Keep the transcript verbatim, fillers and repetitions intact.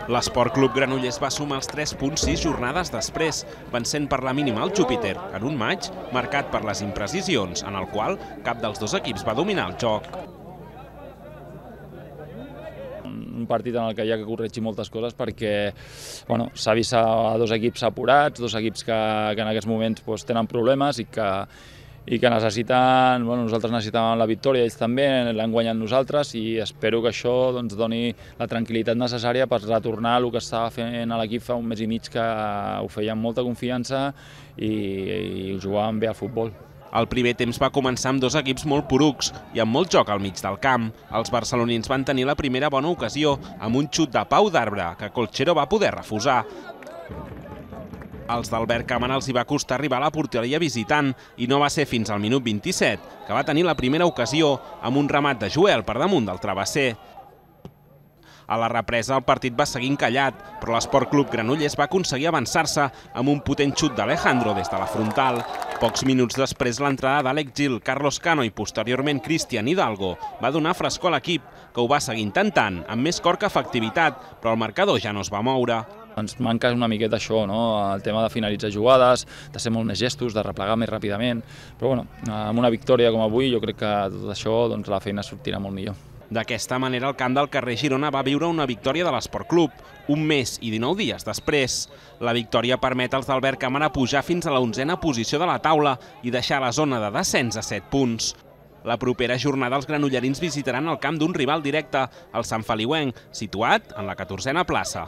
L'Esport Club Granollers va sumar els tres punts sis jornades després, vencent per la mínima el Júpiter, en un maig marcat per les imprecisions, en el qual cap dels dos equips va dominar el joc. Un partit en el que hi ha que corregir moltes coses perquè bueno, s'ha vist a dos equips apurats, dos equips que, que en aquests moments pues, tenen problemes i que, i que necessiten, bueno, nosaltres necessitàvem la victòria, ells també l'han guanyat nosaltres i espero que això doncs, doni la tranquil·litat necessària per retornar al que estava fent a l'equip fa un mes i mig, que ho feia amb molta confiança i, i jugaven bé al futbol. El primer temps va començar amb dos equips molt porucs i amb molt joc al mig del camp. Els barcelonins van tenir la primera bona ocasió amb un xut de Pau d'Arbre, que Colchero va poder refusar. Els d'Albert Cámara els hi va costar arribar a la porteria visitant i no va ser fins al minut vint-i-set que va tenir la primera ocasió amb un remat de Joel per damunt del travesser. A la represa el partit va seguir encallat, però l'Esport Club Granollers va aconseguir avançar-se amb un potent xut d'Alejandro des de la frontal. Pocs minuts després l'entrada d'Àlex Gil, Carlos Cano i posteriorment Cristian Hidalgo va donar frescor a l'equip, que ho va seguir intentant, amb més cor que efectivitat, però el marcador ja no es va moure. Ens manca una miqueta això, no? El tema de finalitzar jugades, de ser molt més gestos, de replegar més ràpidament, però bueno, amb una victòria com avui jo crec que tot això doncs, la feina sortirà molt millor. D'aquesta manera el camp del carrer Girona va viure una victòria de l'Esport Club, un mes i dinou dies després. La victòria permet als d'Albert Cámara pujar fins a la onzena posició de la taula i deixar la zona de descens a set punts. La propera jornada els granollerins visitaran el camp d'un rival directe, el Sant Feliuenc, situat en la catorzena plaça.